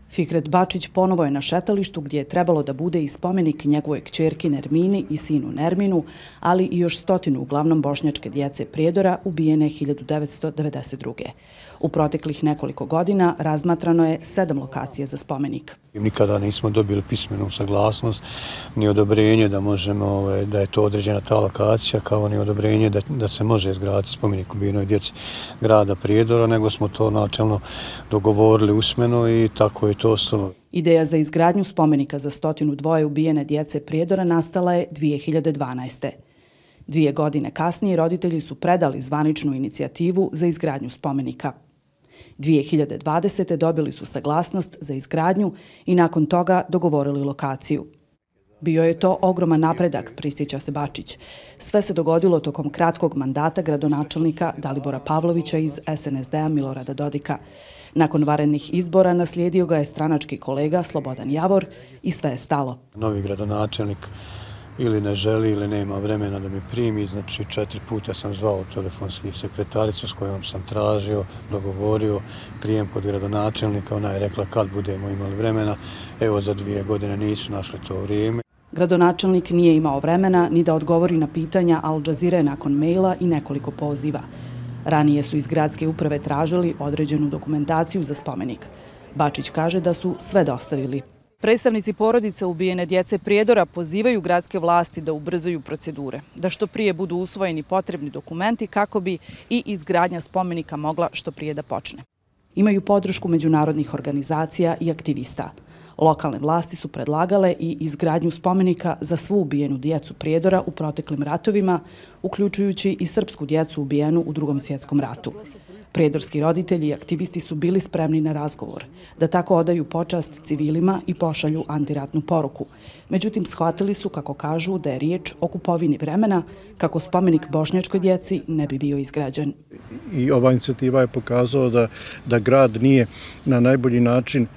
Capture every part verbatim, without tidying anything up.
Fikret Bačić ponovo je na šetalištu gdje je trebalo da bude i spomenik njegovoj kćerki Nermini i sinu Nerminu, ali i još stotinu uglavnom bošnjačke djece Prijedora ubijene hiljadu devetsto devedeset druge. U proteklih nekoliko godina razmatrano je sedam lokacija za spomenik. Nikada nismo dobili pismenu saglasnost ni odobrenje da možemo, da je to određena ta lokacija, kao ni odobrenje da, da se može izgraditi spomenik ubijenoj djeci grada Prijedora, nego smo to načelno dogovorili usmeno i tako je to ostalo. Ideja za izgradnju spomenika za stotinu dvoje ubijene djece Prijedora nastala je dvije hiljade dvanaeste. Dvije godine kasnije roditelji su predali zvaničnu inicijativu za izgradnju spomenika. dvije hiljade dvadesete. dobili su saglasnost za izgradnju i nakon toga dogovorili lokaciju. Bio je to ogroman napredak, prisjeća se Bačić. Sve se dogodilo tokom kratkog mandata gradonačelnika Dalibora Pavlovića iz es en es de a Milorada Dodika. Nakon vanrednih izbora naslijedio ga je stranački kolega Slobodan Javor i sve je stalo. Novi gradonačelnik ili ne želi ili nema vremena da mi primi, znači četiri puta sam zvao telefonski sekretaricu s kojom sam tražio, dogovorio prijem kod gradonačelnika, ona je rekla kad budemo imali vremena, evo za dvije godine nisu našli to vrijeme. Gradonačelnik nije imao vremena ni da odgovori na pitanja Al Jazeere nakon maila i nekoliko poziva. Ranije su iz gradske uprave tražili određenu dokumentaciju za spomenik. Bačić kaže da su sve dostavili. Predstavnici porodice ubijene djece Prijedora pozivaju gradske vlasti da ubrzaju procedure, da što prije budu usvojeni potrebni dokumenti kako bi i izgradnja spomenika mogla što prije da počne. Imaju podršku međunarodnih organizacija i aktivista. Lokalne vlasti su predlagale i izgradnju spomenika za svu ubijenu djecu Prijedora u proteklim ratovima, uključujući i srpsku djecu ubijenu u Drugom svjetskom ratu. Prijedorski roditelji i aktivisti su bili spremni na razgovor, da tako odaju počast civilima i pošalju antiratnu poruku. Međutim, shvatili su, kako kažu, da je riječ o kupovini vremena, kako spomenik bošnjačkoj djeci ne bi bio izgrađen. I ova inicijativa je pokazala da, da grad nije na najbolji način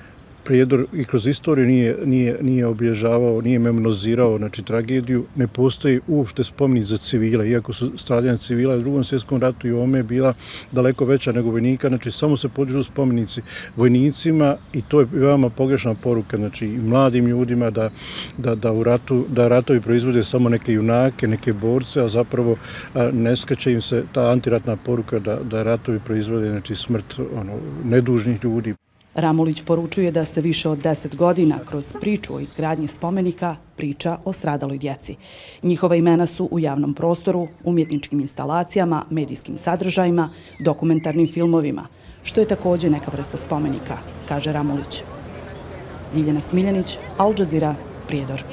Prijedor i kroz istoriju nije, nije, nije obilježavao, nije memorizirao, znači tragediju. Ne postoji uopšte spomenik za civile, iako su stradanja civila u Drugom svjetskom ratu i ovome je bila daleko veća nego vojnika, znači samo se podižu spomenici vojnicima i to je veoma pogrešna poruka, znači i mladim ljudima da, da, da, u ratu, da ratovi proizvode samo neke junake, neke borce, a zapravo a, ne skreće im se ta antiratna poruka da, da ratovi proizvode, znači smrt ono, nedužnih ljudi. Ramulić poručuje da se više od deset godina kroz priču o izgradnji spomenika priča o stradaloj djeci. Njihova imena su u javnom prostoru, umjetničkim instalacijama, medijskim sadržajima, dokumentarnim filmovima, što je također neka vrsta spomenika, kaže Ramulić. Ljiljana Smiljanić, Al Jazeera, Prijedor.